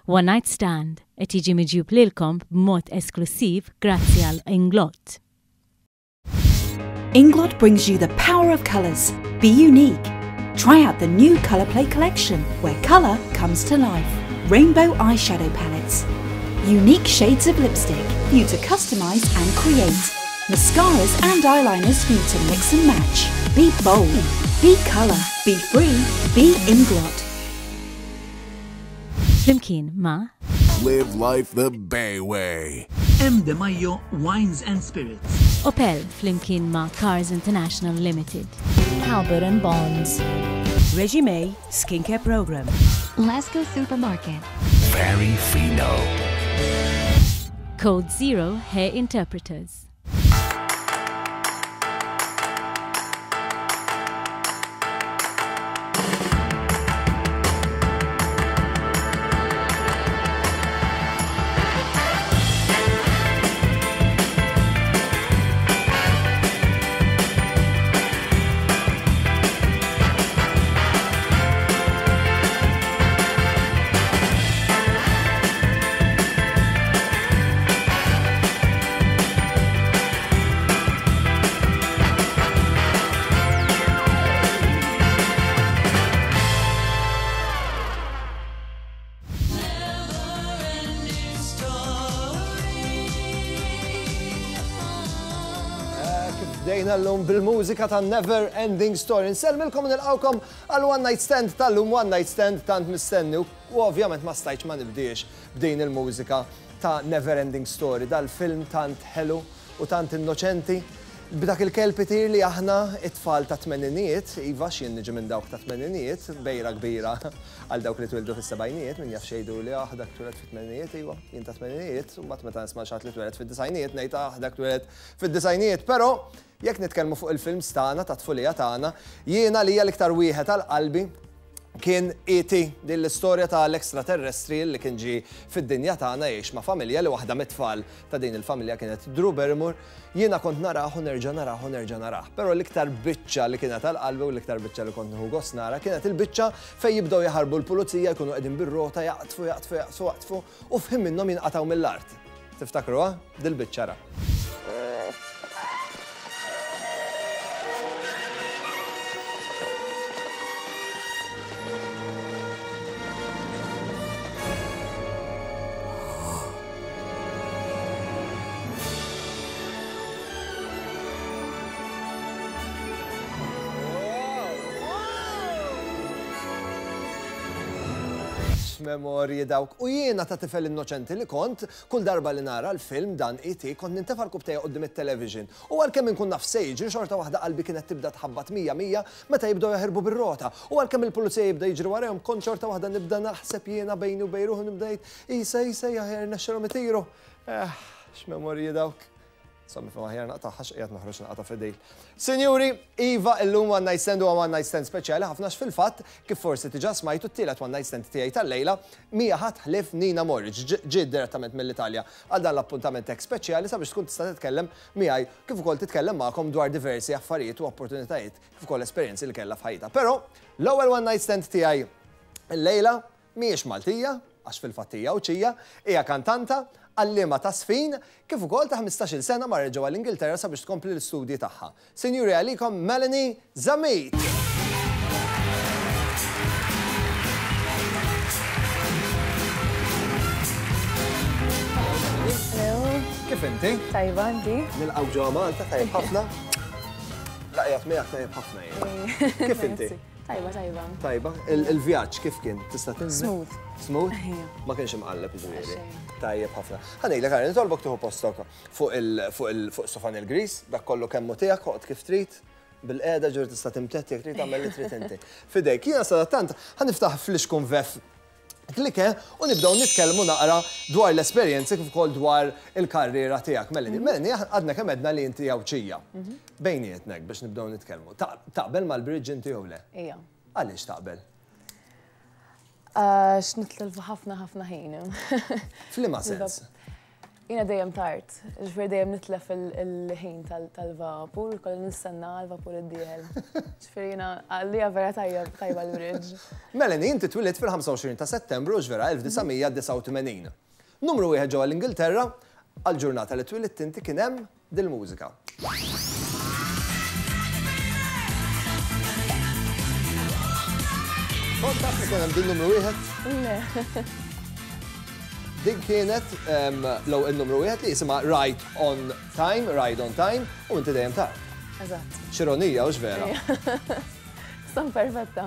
One Night Stand qed jiġi miġjub lilkom b'mod esklussiv grazzi għal Inglot. Inglot brings you the power of colours. Be unique. Try out the new Colour Play collection, where colour comes to life. Rainbow eyeshadow palettes. Unique shades of lipstick for you to customise and create. Mascaras and eyeliners for you to mix and match. Be bold. Be colour. Be free. Be Inglot. Flimkien ma'. Live life the Bay way. M. De Maio Wines and Spirits. Opel flimkien ma' Cars International Limited. Halbert and Bonds. Regime Skincare Program. Lasco Supermarket. Very Fino. Code Zero Hair Interpreters. Bdejna l-lum bil-mużika ta' Never Ending Story. Nsellmilkom nilqawkom għal One Night Stand tal-lum One Night Stand tant mistenni u ovvjament ma stajtx ma nibdiex b'din il-mużika ta' Never Ending Story, dal-film tant ħelu u tant innoċenti, b'dak il-kelb itir li aħna it-tfal tat-tmeninijiet, iva għax jien niġi minn dawk tat-tmeninijiet, bejra kbira għal dawk li twildu fis-sebgħinijiet, min jaf x'jgħiduli, ah dak twieled fit-tmeninijiet, iva, jien tat-tmeninijiet, u mbagħad meta nisma' xi ħadd li twieled fid-disgħinijiet ngħid ah dak twieled fid-disgħinijiet, però jekk nitkellmu fuq il-films tagħna, tat-tfulija tagħna, jiena għalija l-iktar wieħed għal qalbi kien ET, din l-istorja ta' l-extraterrestri li kien ġie fid-dinja tagħna jgħix ma' familja li waħda mit-tfal ta' din il-familja kienet Drew Barrymore. Jiena kont narah u nerġa' narah u nerġa' narah. Però l-iktar biċċa li kienet għal qalbi u l-iktar biċċa li kont nieħu gost nara kienet il-biċċa fejn jibdew jaħarbu l-pulizija jkunu qegħdin bir-rota jaqdfu, jaqdfu, jaqdfu, jaqdfu u f'ħin minnhom jinqatgħu mill-art. Tiftakruha? Dil-biċċa ra. X'memorji dawk. U jiena ta' tifel innoċenti li kont, Kull darba li nara l-film dan ET kont nintefa' rkubtejja quddiem it-television u għalkemm inkun naf x'se jiġri xorta waħda qalbi kienet tibda tħabbat mija mija meta jibdew jaħirbu bir-rota u għalkemm il-pulizija jibda jiġri warajhom kont xorta waħda nibda naħseb jiena bejni u bejn ruħi u nibda ngħid isa isa aħjar irnexxilhom itiru. Eh, x'memorji dawk. Insomma, nifhem aħjar naqtagħha x'qiegħed noħroġ naqta' fidil. Sinjuri, iva illum one night stand huwa one night stand speċjali ħafna għax fil-fatt, kif forsi diġà smajtu t-tielet one night stand tiegħi tal-lejla mhija ħadd ħlief Nina Morridge, ġiet direttament mill-Italja għal dan l-appuntament hekk speċjali sabiex tkun tista' titkellem miegħi kif ukoll titkellem magħkom dwar diversi affarijiet u opportunitajiet kif ukoll esperjenzi li kellha f'ħajjitha. Però, l-ewwel one night stand tiegħi llejla Mhijiex Maltija, għax fil-fatt hija Għawdxija, hija kantanta, għalliema ta' żfin, kif ukoll ta' ħmistax-il sena marret ġewwa l-Ingilterra sabiex tkompli l-istudji tagħha. Sinjuri għalikom Melanie Zammit! Hello. Kif inti? Tajba, inti? Nilqgħu ġewwa Malta, tajjeb ħafna. Laqjat miegħek tajjeb ħafna jien. Kif inti? Tajba, tajba. Tajba. Il-vjaġġ kif kien? Tista' tinżel? Smooth. Smooth? Ma kienx imqalleb ġifieri. Tajjeb ħafna. Ħa ngħidlek ara, nitolbok tieħu postok fuq il fuq il fuq sofan il-gris, dak kollu kemm hu tiegħek, oqgħod kif trid, bil-qiegħda ġifieri tista' timtedd jekk trid tagħmel li trid inti. F'idejk. Jiena sadattant ħa niftaħ flixkun vef Klike u nibdew nitkellmu naqra dwar l-esperjenzi kif ukoll dwar il-karriera tiegħek. Melanie, mhm. Melanie, għadna kemm għedna li inti Għawdxija. Mhm. Bejnietnek biex nibdew nitkellmu. Taqbel mal-bridge inti jew le? Ija. Għaliex taqbel? Għax nitlilfu ħafna ħafna ħin. F'liema sens? Jiena dejjem tard, ġifieri dejjem nitlef il-ħin tal-vapur, kolli nistenna għal-vapur id-dieħel. Ġifieri jiena għalija vera tajba l-bridge. Melanie, inti twilidt fil-25 ta' Settembru ġvera 1989. Numru wieħed ġewwa l-Ingilterra, għall-ġurnata li twilidt inti kien hemm dil-mużika. Kont taf li kien hemm din numru wieħed? Le. Din kienet l numru wieħed li jisimha Right on Time, Ride on Time, u inti dejjem tard. Eżatt. X'ironija, hux vera? Stan perfetta.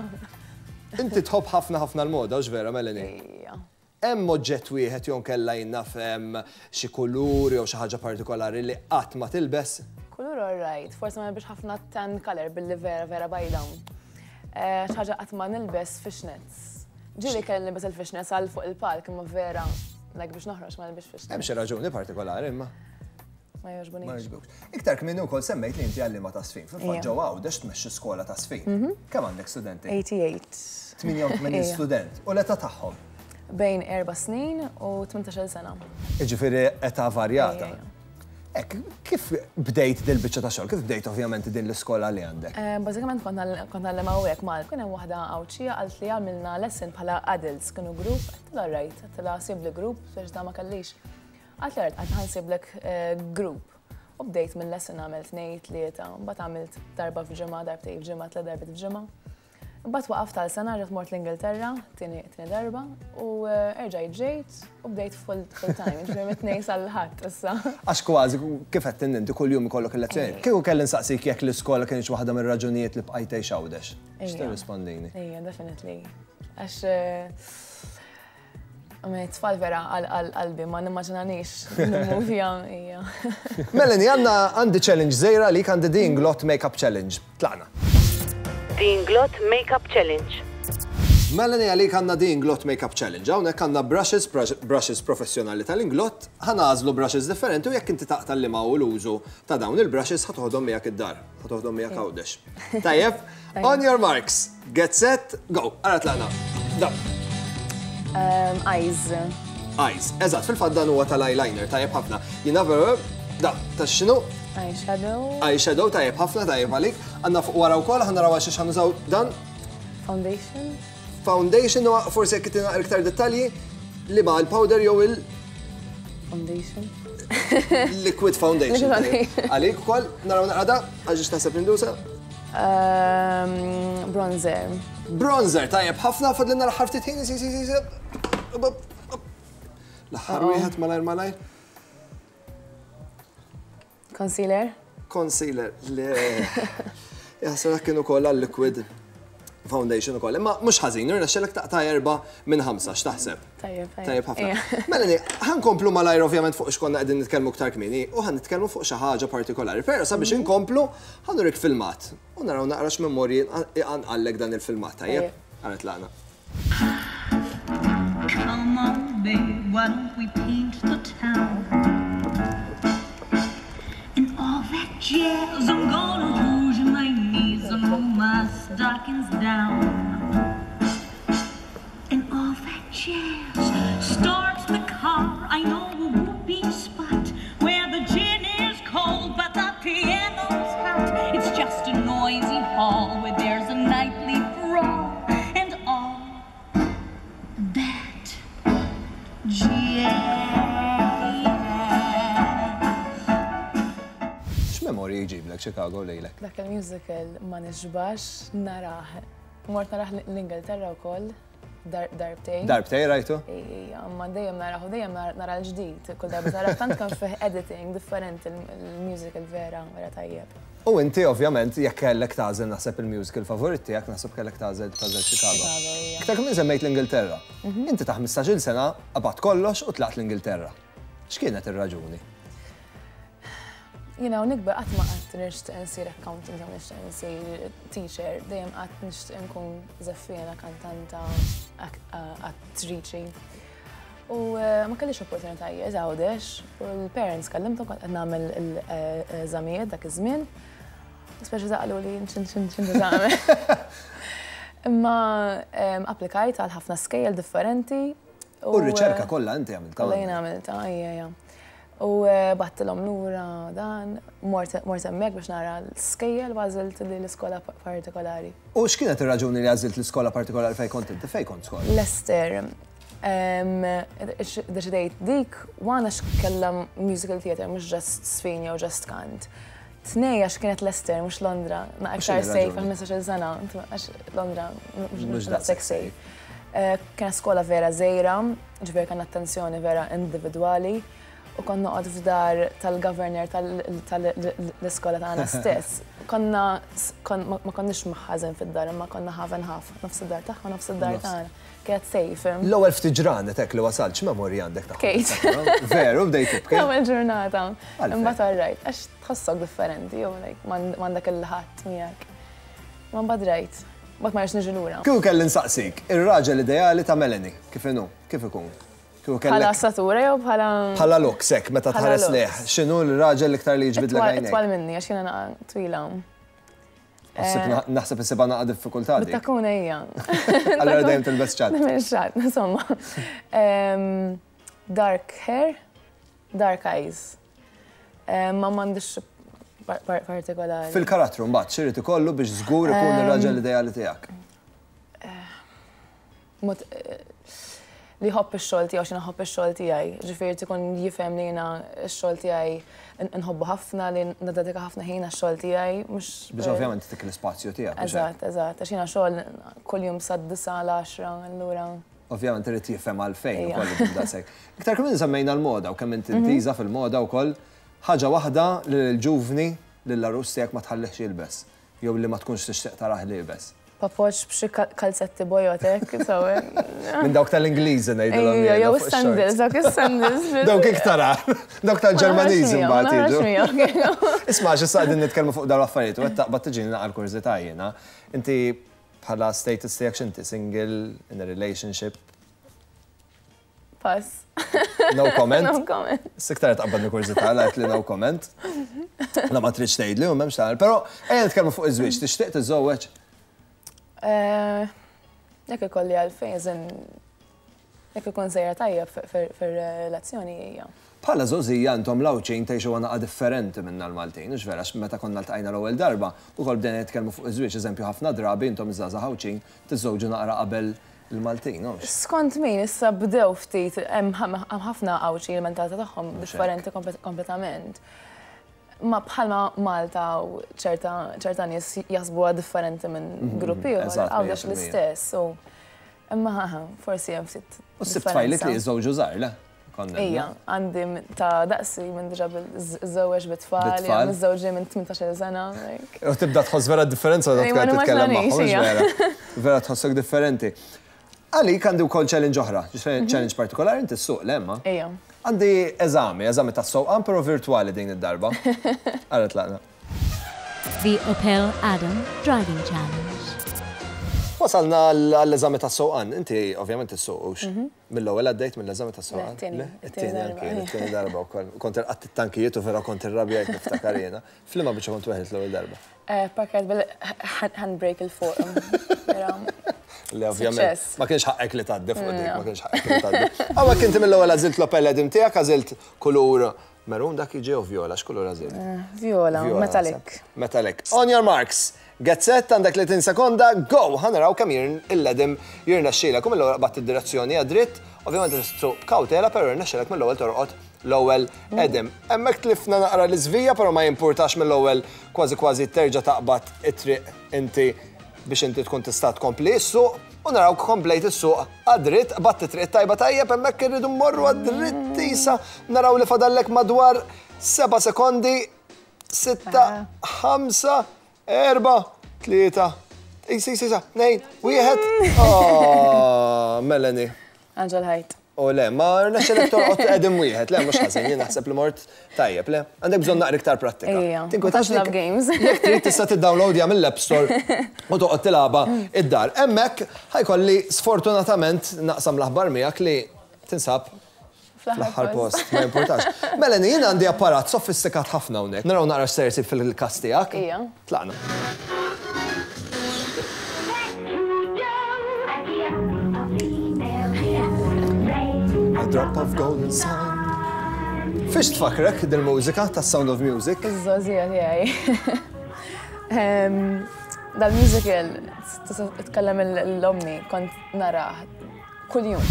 Inti tħobb ħafna ħafna l-moda, hux vera, Melanie? Ejja. Hemm oġġett wieħed jew inkella jien naf xi kulur jew xi ħaġa partikolari li qatt ma tilbes? Kulur all right, forsi ma nilbisx ħafna tan colour billi vera vera bajda. Xi ħaġa qatt ma nilbes fishnets. Ġieli kelli nilbes il-fishnets għal fuq il-palk imma vera like biex noħroġ ma nilbisx fishnets. Hemm xi raġuni partikolari imma? Ma jogħġbunix. Ma jogħġbukx. Iktar kmieni wkoll semmejt li inti għalliema ta' żfin. Fil-fatt ġewwa Għawdex tmexxi skola ta' żfin. Kemm għandek studenti? 88. 88 student. U l-età tagħhom? Bejn erba' snin u 18-il sena. Jiġifieri età varjata. Hekk, kif bdejt dil-biċċa ta' xogħol? Kif bdejt ovvjament din l-iskola li għandek? Bażikament kont ngħallem hawnhekk Malta. Kien hemm waħda Għawdxija qalt li għamilna lesson bħala adults, kienu grupp, għedtilha all right, għedtilha sibli grupp, biex da ma kellix. Għalt li għart ħa nsiblek group. U bdejt minn lesson għamilt tnejn, tlieta, mbagħad għamilt darba f'ġimgħa, darbtejn f'ġimgħa, tliet darbiet f'ġimgħa. Mbagħad waqaft għal sena rġgħet mort l-Ingilterra, tieni darba, u erġajt ġejt u bdejt full time, ġifieri mit-tnejn sal-Ħadd issa. Għax kważi kif għedt inti kuljum ikollok il-lezzjonijiet. Kieku kelli nsaqsik jekk l-iskola kinitx waħda mir-raġunijiet li bqajt tgħix Għawdex, x'tirrispondini? Ejja, definitely. Għax Tfal vera għal qalbi, ma nimmaġinanix nimmovja hija. Melanie, għandna għandi challenge żgħira għalik għandi The Inglot Makeup Challenge. Tlaqna. The Inglot Makeup Challenge. Melanie, għalik għandna The Inglot Makeup Challenge. Hawnhekk għandna brushes, brushes professjonali tal-Inglot, ħa nagħżlu brushes differenti u jekk inti taqta' liema hu l-użu ta' dawn il-brushes ħa toħodhom miegħek id-dar, ħa toħodhom miegħek Għawdex. Tajjeb? On your marks, get set, go. Ara tlaqna. Da. Um, eyes. Eyes. Eżatt, fil-fatt dan huwa tal-eyeliner, tajjeb ħafna. Jina da, ta' xinu? Eyeshadow. Eyeshadow, tajjeb ħafna, tajjeb għalik. Għanna fuq wara wkoll, ħanna rawa xiex ħanużaw dan. Foundation. Foundation, u forsi jekk tina iktar dettalji, li ma' l-powder jew il- Foundation. Liquid foundation. Għalik ukoll, naraw naqra għax taħseb nindusa. Ehm, bronzer. Bronzer, tajjeb ħafna, fadlinna l-aħħar ftit ħin, si, si, si, si. L-aħħar wieħed malajr malajr. Concealer? Concealer, le. Jaħseb dak kien ukoll għal-liquid foundation ukoll. Imma mhux ħażin, irnexxelek taqta' erba' minn ħamsa, x'taħseb? Tajjeb, tajjeb ħafna. Melanie, ħankomplu malajr ovvjament fuq x'konna qegħdin nitkellmu iktar kmieni u ħan nitkellmu fuq xi ħaġa partikolari. Però sabiex mhm. inkomplu, ħa nurik filmat u naraw naqra x'memorji iqanqallek dan il-filmat, tajjeb? Ara tlaqna. Come on, babe, why don't we paint the town? And all that jazz, I'm gonna rouge my knees and roll my stockings down. And all that jazz starts the car. I know a whoopee spot where the gin is cold, but the piano's hot. It's just a noisy hall where there's a nightly brawl and all that jazz. X'memorji jġiblek Chicago lilek? Dak il-musical ma nixbax narah. Mort narah l-Ingilterra wkoll. Darbtejn. Darbtejn rajtu? Ija, ma dejjem naraħ u dejjem nara l-ġdid. Kull darba nara tant kemm fih editing differenti l-musical vera, vera tajjeb. U inti ovvjament jekk kellek tagħżel naħseb il-musical favorit tiegħek naħseb kellek tagħżel tagħżel Chicago. Chicago, ija. Iktar kmieni semmejt l-Ingilterra. Inti ta' 15-il sena qabadt kollox u tlaqt l-Ingilterra. X'kienet ir-raġuni? Jiena u nikber qatt ma qatt nixtieq insir accountant jew nixtieq insir teacher, dejjem qatt nixtieq inkun żeffiena, kantanta, attriċi. U eh, ma kellix opportunitajiet Għawdex u l-parents kellimthom kont qed nagħmel l-eżamijiet dak iż-żmien. Speċi taqlu li x'in x'in x'in tagħmel. Imma applikajt għal ħafna skejjel differenti. U r-riċerka kollha inti għamiltha. Kollha jien għamiltha, ejja, ejja. U bgħattilhom lura dan, mort hemmhekk biex nara l-skejjel u għażilt li l-iskola partikolari. U x'kienet ir-raġuni li għażilt l-iskola partikolari fejn kont inti? Fejn kont skola? Leicester. Deċidejt dik, one għax kellha musical theatre mhux just żfin jew just kant. Tnej għax kienet Leicester mhux Londra, naqra iktar safe għal 15-il sena, għax Londra mhux daqshekk safe. Kienet skola vera żgħira, ġifieri kellna attenzjoni vera individwali u kont noqgħod f'dar tal-governor tal-iskola tagħna stess. Konna ma konniex maħħażin fid-dar imma konna half and half, nofs id-dar tagħha u nofs id-dar tagħna. Kienet safe. L-ewwel ftit ġranet hekk li wasalt, x'memorji għandek tagħhom? Bkejt. Veru, bdejt tibki? L-ewwel ġurnata. Imbagħad all right, għax tħossok differenti u like m'għandek il-ħadd miegħek. Ma mbagħad rajt. Mbagħad ma rridx niġi lura. Kieku kelli nsaqsik, ir-raġel ideali ta' Melanie, kif inhu? Kif ikun? Kieku kellek. Bħala statura jew bħala. Bħala looks hekk meta tħares lejh, x'inhu l-raġel l-iktar li jiġbidlek għajnejk? Itwal minni għax jiena naqa' twila. Naħseb issibha naqa' diffikultà dik. Bit-takkuna hija. Allura dejjem tilbes ċatt. Nagħmel ċatt, insomma. Dark hair, dark eyes. Ma m'għandix partikolari. Fil-karattru mbagħad x'irid ikollu biex żgur ikun ir-raġel ideali tiegħek? Mod li jħobb ix-xogħol tiegħu x'jiena nħobb ix-xogħol tiegħi. Ġifieri ikun jifhem li jiena x-xogħol tiegħi nħobbu ħafna, li niddedika ħafna ħin għax-xogħol tiegħi, mhux. Biex ovvjament itik l-ispazju tiegħek. Eżatt, eżatt, għax jiena xogħol kuljum sad-disgħa l-għaxra, allura. Ovvjament irid jifhem għalfejn ukoll li daqshekk. Iktar kmieni semmejna l-moda u kemm inti intiża fil-moda wkoll. Ħaġa waħda li lill-ġuvni, lill-għarus tiegħek ma tħallihx jilbes. Jew li ma tkunx tixtieq tarah liebes. Papoċ b'xi kalzetti bojod hekk, sew. Minn dawk tal-Ingliżi ngħidilhom jien. Jew is-sandals, dawk is-sandals. Dawk iktar agħar. Dawk tal-Ġermaniżi mbagħad jiġu. Isma' għax issa qegħdin nitkellmu fuq dawn l-affarijiet u qed taqbad tiġini naqra l-kurżità jiena. Inti bħala status tiegħek x'inti, single, in a relationship? Pass. No comment? No comment. Siktar tqabbadni kurżità għalt li no comment. La ma tridx tgħidli u m'hemmx tagħmel. Però ejja nitkellmu fuq iż-żwieġ, tixtieq tiżżewweġ? Eh, jekk ikolli għalfejn, żin jekk ikun sejra tajjeb fir-relazzjoni hija. Bħala żgħożija intom l-Għawdxin tgħixuha naqa' differenti minna l-Maltin, hux vera? Għax meta konna ltqajna l-ewwel darba, ukoll bdejna nitkellmu fuq iż-żwieġ, eżempju ħafna drabi intom iż-żgħażagħ Għawdxin tiżżewġu naqra qabel il-Maltin, hux? Skont min, issa bdew ftit, hemm ħafna Għawdxin il-mentalità tagħhom differenti kompletament. Ma bħalma Malta u ċerta nies jaħsbuha differenti minn grupp ieħor, Għawdex l-istess. Imma forsi hemm ftit. U ssib tfajliet li jiżżewġu żgħar, le? Ija, għandi ta' daqsi minn diġa żewġ bit-tfal, miżżewġin minn 18 sena. U tibda tħoss vera differenza meta tkun titkellem magħhom, vera. Vera tħossok differenti. Għalik għandi wkoll challenge oħra, challenge partikolari inti ssuq le imma. Ija. Għandi eżami, eżami tas-sewqan però virtwali din id-darba. Ara tlaqna. The Opel Adam Driving Challenge. Wasalna għall-eżami tas-sewqan. Inti ovvjament issuq hux? Mill-ewwel għaddejt mill-eżami tas-sewqan? Le, it-tieni anki jien, it-tieni darba wkoll. Kont irqadt it-tankijiet u vera kont irrabjajt niftakar jiena. F'liema biċċa kont weħilt l-ewwel darba? Parkjajt bil-handbrake 'il fuq. Le ovvjament. Ma kienx ħaqqek li tgħaddi fuq dik, ma kienx ħaqqek li tgħaddi. Hawnhekk inti mill-ewwel għażilt l-Opel Edim tiegħek, għażilt kulur Maroon dak jiġi jew vjola, x'kulur għażilt? Vjola, metallic. Metallic. On your marks, get set, għandek 30 sekonda, go! Ħa naraw kemm il-ledim jirnexxielek. U mill-ewwel qbadt id-direzzjoni għad-dritt, ovvjament trid issuq b'kawtela, però jirnexxielek mill-ewwel torqod l-ewwel edim. Hemmhekk tlifna naqra l-iżvija, però ma jimpurtax mill-ewwel kważi kważi terġa' taqbad it-triq inti biex inti tkun tista' tkompli ssuq u narawk komplejt issuq għad-dritt, qbadt it-triq it-tajba tajjeb hemmhekk irridu mmorru għad-dritt isa naraw li fadallek madwar seba' sekondi, sitta, ħamsa, erba', tlieta, isa, isa, isa, tnejn, wieħed. Oh, Melanie. Anġel ħajt. U le, ma rnexxilek torqod qegħdin wieħed, le mhux ħażin, jien naħseb li mort tajjeb, le. Għandek bżonn naqra iktar prattika. Ejja. Tinkwetax love games. Jekk trid tista' tiddownloadja mill-App Store u toqgħod tilgħabha id-dar. Hemmhekk ħajkolli sfortunatament naqsam l-aħbar miegħek li tinsab fl-aħħar post, ma jimpurtax. Melanie, jien għandi apparat sofistikat ħafna hawnhekk. Naraw naqra x'ser isib fil-każ tiegħek. Ejja. Tlaqna. A drop of golden sun. Fiex tfakrek dil-mużika ta' Sound of Music? Iż-żgħożija tiegħi. Dal-musical tkellem l-ommi kont narah kuljum.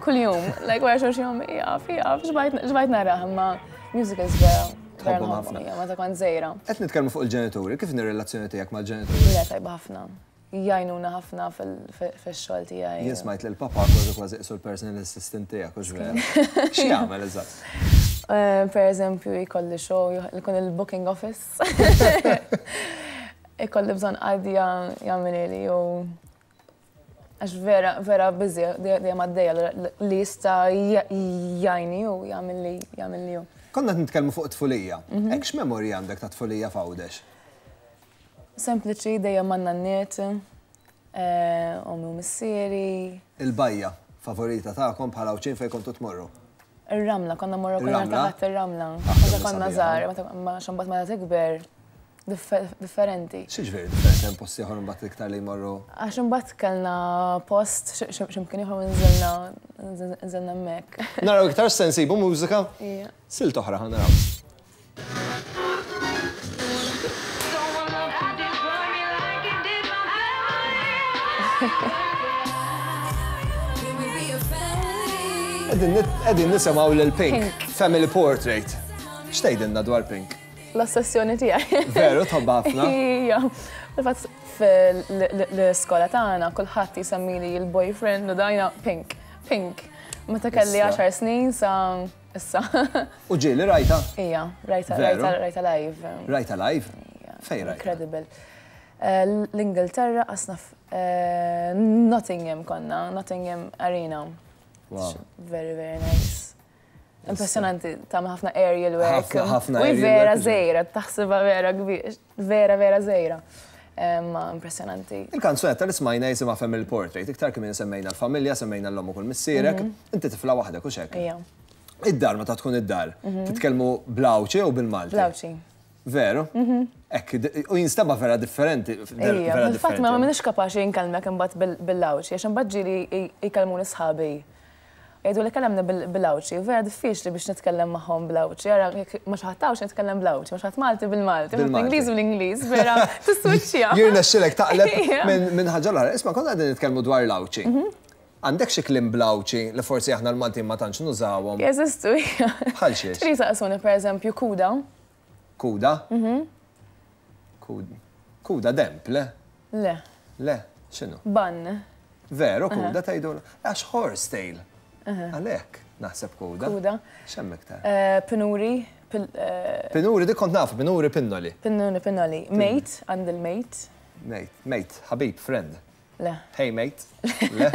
Kuljum, like wara xulxin ommi jaf, jaf, xbajt narah imma musicals vera. Tħobbhom ħafna. Meta kont żgħira. Qed nitkellmu fuq il-ġenituri, kif inhi r-relazzjoni tiegħek mal-ġenituri? Le tajba ħafna. Jgħinuna ħafna fix-xogħol tiegħi. Jien smajt li l-papa kważi kważi qisu l-personal assistant tiegħek, hux vera? X'jagħmel eżatt? Per eżempju, jkolli show, jkun il-booking office. Ikolli bżonn qadi jagħmilili u għax vera, vera busy, dejjem għaddejja li jista' jgħinni u jagħmilli jagħmilli hu. Konna qed nitkellmu fuq it-tfulija. Hekk x'memorji għandek ta' tfulija f'Għawdex? Sempliċi, dejjem man-nanniet, ommi u missieri. Il-bajja favorita tagħkom bħala Għawdxin fejn kontu tmorru? Ir-Ramla, konna mmorru kull nhar ta' Ħadd ir-Ramla. Meta konna żgħar, għax imbagħad meta tikber differenti. X'jiġifieri differenti? Hemm post ieħor imbagħad iktar li jmorru? Għax imbagħad kellna post x'imkien ieħor u nżilna nżilna hemmhekk. Naraw iktar x'se nsibu mużika? Silt oħra ħa naraw. Qegħdin nisimgħu lil Pink, Family Portrait. X'tgħidilna dwar Pink? L-ossessjoni tiegħi. Veru tħobbha ħafna? Ija. Fil-fatt fl-iskola tagħna kulħadd jsemmili l-boyfriend u dajna Pink. Pink. Meta kelli għaxar snin sa Issa. U ġieli rajtha? Ija, rajtha, rajtha, rajtha live. Rajtha live? Ija. Fejn rajtha? Incredible. L-Ingilterra qasna Nottingham konna, Nottingham Arena. Wow. Very, very nice. Impressjonanti, tagħmel ħafna aerial work. Ħafna, ħafna aerial work. U vera żgħira, taħsibha vera kbir, vera, vera żgħira. Ma impressjonanti. Il-kanzunetta li smajna jisimha Family Portrait. Iktar kmieni semmejna l-familja, semmejna l-omm u kull missierek. Inti tifla waħdek, hux hekk? Ija. Id-dar meta tkun id-dar, titkellmu bl-Għawdxi jew bil-Malti? Bl-Għawdxi. Veru? Hekk, u jinstema' vera differenti. Ija, fil-fatt ma m'iniex kapaċi nkellmek imbagħad bil-Għawdxi, għax imbagħad ġieli jkellmuni sħabi. Jgħiduli kellemni bil-Għawdxi, vera diffiċli biex nitkellem magħhom bl-Għawdxi. Ara jekk ma' xi ħadd Għawdxi nitkellem bl-Għawdxi, ma' xi ħadd Malti bil-Malti, ma' ħadd Ingliż bl-Ingliż, vera tiswiċċja. Jirnexxilek taqleb minn ħaġa l-oħra. Isma' konna qegħdin nitkellmu dwar l-Għawdxi. Għandek xi kliem bl-Għawdxi li forsi aħna l-Maltin ma tantx nużawhom? Jeżistu, ija. Bħal xiex? Ġieli jsaqsuni pereżempju kuda. Kuda? Kuda demp, le? Le. Le, x'inhu? Bann. Veru, kuda tgħidu? Għax horse tail. Għalhekk naħseb kuda. Kuda. X'hemm iktar? Pinuri. Pinuri dik kont nafu, pinuri pinnoli. Pinuri pinnoli. Mate, għand il-mate. Mate, mate, ħabib, friend. Le. Hey mate. Le.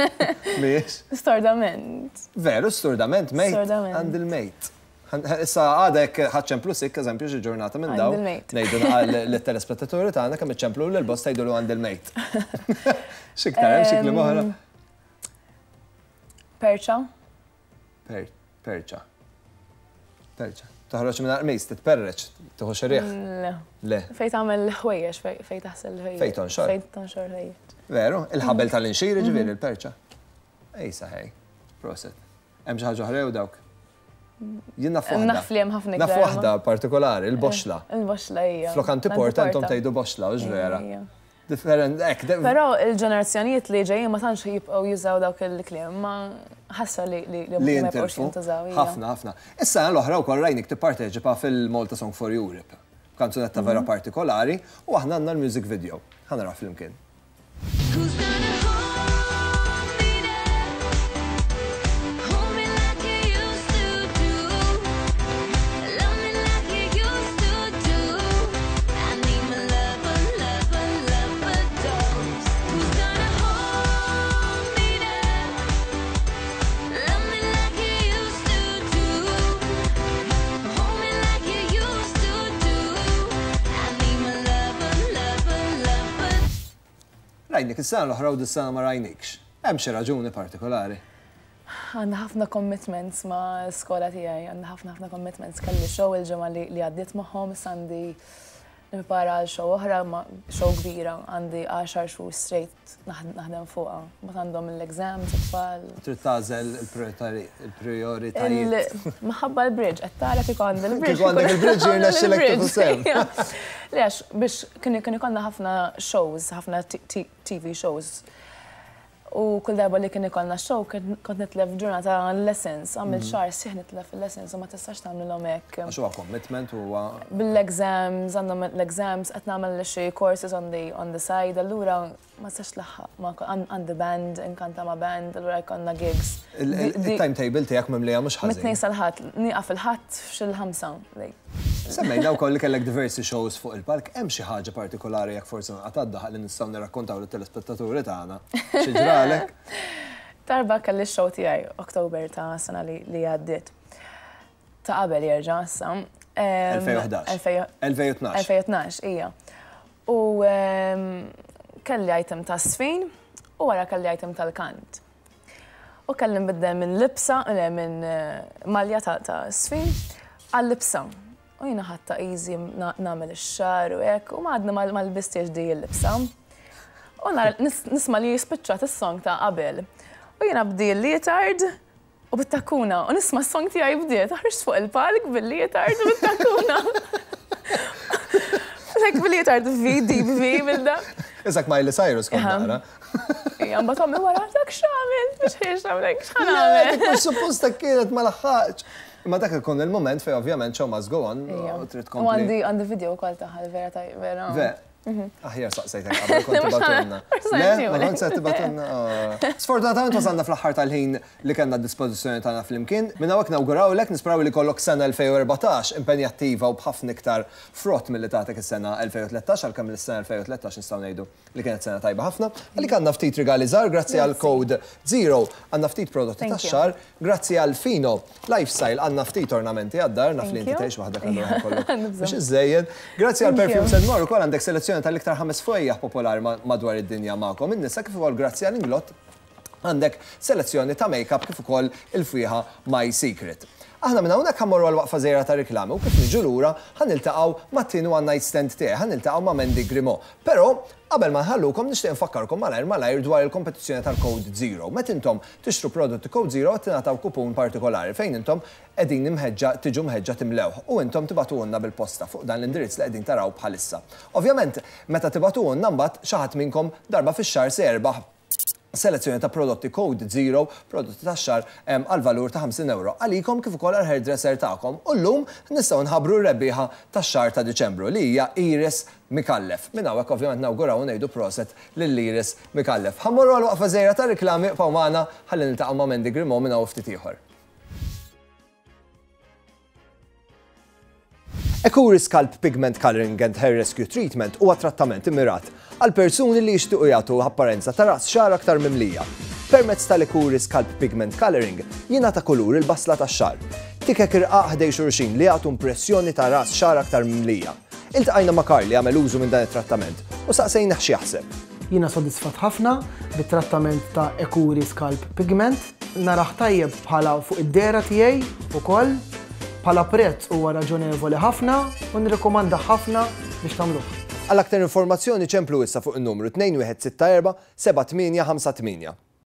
Mhijiex. Stordament. Veru, stordament, mate. Stordament. Għand il-mate. Issa għada jekk ħa ċċemplu sikk, eżempju, xi ġurnata minn dawn. Għand il-mate. Ngħidu lit-telespettaturi tagħna kemm iċċemplu lil boss tgħidulu għand il-mate. X'iktar hemm xi kliem oħra? Perċa. Perċa. Perċa. Toħroġ minn qmis, titperreċ, tieħu xi riħ. Le. Le. Fejn tagħmel ħwejjeġ, fejn taħsel ħwejjeġ. Fejn tonxor. Fejn tonxor ħwejjeġ. Veru, il-ħabel tal-inxir, ġifieri il-perċa. Ejsa ħej. Proset. Hemm xi ħaġa oħra jew dawk? Jien naf waħda. Naf li hemm ħafna iktar. Naf waħda partikolari, il-boxla. Il-boxla hija. Flok antiporta intom tgħidu boxla, hux vera? Different, hekk. Però il-ġenerazzjonijiet li ġejjin ma tantx jibqgħu jużaw dawk il-kliem, ma ħasra li li ma jibqgħux jintużaw. Ħafna, ħafna. Is-sena l-oħra wkoll rajnik tipparteċipa fil-Malta Song for Europe. Kanzunetta vera partikolari u aħna għandna l-music video. Ħa naraw flimkien. Rajnik is-sena l-oħra u dis-sena ma rajnikx. Hemm xi raġuni partikolari? Għandna ħafna commitments ma' skola tiegħi, għandna ħafna ħafna commitments. Kelli show il-ġimgħa li għaddiet magħhom, issa għandi Nipprepara għal show oħra, ma show kbira, għandi għaxar xhur straight naħdem fuqha. Mbagħad għandhom l-exams it-tfal. Trid tagħżel il-prijoritajiet. Minħabba l-bridge, qed tara kieku għandi l-bridge. Kieku għandek il-bridge jirnexxilek tieħu sehem. Le għax biex kien ikollna ħafna shows, ħafna TV shows. U kull darba li kien ikollna show kont nitlef ġurnata lessons, għamilt xahar sħiħ nitlef il-lessons u ma tistax tagħmlilhom hekk. Għax huwa commitment u huwa. Bil-exams, għandhom l-exams, qed nagħmel xi courses on the on the side, allura ma tistax tlaħħaq ma' għandi band, inkanta ma' band, allura jkollna gigs. Il-timetable tiegħek mimlija mhux ħażin. Mit-Tnejn sal-Ħadd, nieqaf il-Ħadd f'xil-ħamsa. Semmejna wkoll li kellek diversi shows fuq il-palk, hemm xi ħaġa partikolari jekk forsi nqata' d-daħaq li nistgħu nirrakkontaw lit-telespettaturi tagħna xi ġralek? Darba kelli x-show tiegħi October ta' sena li għaddiet. Ta' qabel jerġa' issa. 2011. 2012. 2012, ija. U kelli item ta' sfin u wara kelli item tal-kant. U kelli nbiddel minn libsa, le minn malja ta' sfin għal libsa. U jiena ħadtha easy nagħmel ix-xagħar u hekk u ma għadni ma lbistiex di l-libsa. U nisma' li spiċċat is-song ta' qabel. U jiena b'di l-leotard u bit-takkuna u nisma' s-song tiegħi bdiet, ħriġt fuq il-palk bil-leotard u bit-takkuna. Like bil-leotard V, deep V, bil-da. Isak Miley Cyrus kont naqra. Ija, mbagħad ommi wara dak x'għamil, biex ħiex għamlek, x'ħan għamel. Mhux suppost hekk kienet ma laħħaqx. Imma dak ikun il-moment fejn ovvjament show must go on u trid tkompli. U għandi għandi video wkoll tagħha vera taj vera. Ve. Mhm. Aħjar saqsejtek qabel kont tibatulna. Le, ma kont se tibatulna. Oh. Sfortunatament wasalna fl-aħħar tal-ħin li kellna d-dispożizzjoni tagħna flimkien. Minn hawnhekk nawgurawlek, nisperaw li kollok sena 2014 impenjattiva u b'ħafna iktar frott milli tagħtek is-sena 2013 għalkemm l-sena 2013 nistgħu ngħidu li kienet sena tajba ħafna. Għalik għandna ftit rigali żgħar grazzi għal Code Zero, għandna ftit prodotti tax-xagħar, grazzi għal Fino Lifestyle għandna ftit ornamenti għad-dar, naf li inti tgħix waħdek allura ħa jkollok biex iżżejjen. Grazzi għal Perfumes and More ukoll għandek selezzjoni tal-iktar ħames fwejjaħ popolari madwar id-dinja magħkom in-nisa kif ukoll grazzi għal Inglot għandek selezzjoni ta' make-up kif ukoll il-fwieħa My Secret. Aħna minn hawnhekk ħa mmorru għal waqfa żgħira ta' riklami u kif niġu lura ħa niltaqgħu mat-tieni one night stand tiegħi, ħa niltaqgħu ma' Mandy Grimaud. Però, qabel ma nħallukom nixtieq infakkarkom malajr malajr dwar il-kompetizzjoni tal-Code Zero. Meta intom tixtru prodotti Code Zero qed tingħataw kupun partikolari fejn intom qegħdin imħeġġa tiġu mħeġġa timlewh u intom tibagħtuhulna bil-posta fuq dan l-indirizz li qegħdin taraw bħalissa. Ovvjament, meta tibagħtuhulna mbagħad xi ħadd minnkom darba fix-xahar se jerbaħ selezzjoni ta' prodotti Code Zero, prodotti tax-xagħar għal valur ta' 50 ewro għalikom kif ukoll għall-hairdresser tagħkom. U llum nistgħu nħabbru r-rebbieħa tax-xahar ta' Diċembru li hija Iris Micallef. Minn hawnhekk ovvjament nawguraw u ngħidu proset lil Iris Micallef. Ħa mmorru għal waqfa żgħira ta' riklami ibqgħu magħna ħalli niltaqgħu ma' Mandy Grimaud minn hawn ftit ieħor. Ecuri Scalp Pigment Coloring and Hair Rescue Treatment huwa trattament immirat għal persuni li jixtiequ jagħtu apparenza ta' ras xagħar aktar mimlija. Permezz tal-Ecuri Scalp Pigment Coloring jingħata kulur il-basla tax-xagħar. Tikek irqaq ħdej xulxin li jagħtu impressjoni ta' ras xagħar aktar mimlija. Iltqajna ma' Karl li għamel użu minn dan it-trattament u saqsejnih x'jaħseb. Jiena sodisfatt ħafna bit-trattament ta' Ecuri Scalp Pigment. Narah tajjeb bħala fuq id-dehra tiegħi ukoll. Bħala prezz huwa raġonevoli ħafna u nirrikkomandah ħafna biex tagħmluh. Għal aktar informazzjoni ċemplu issa fuq in-numru 2164 7858.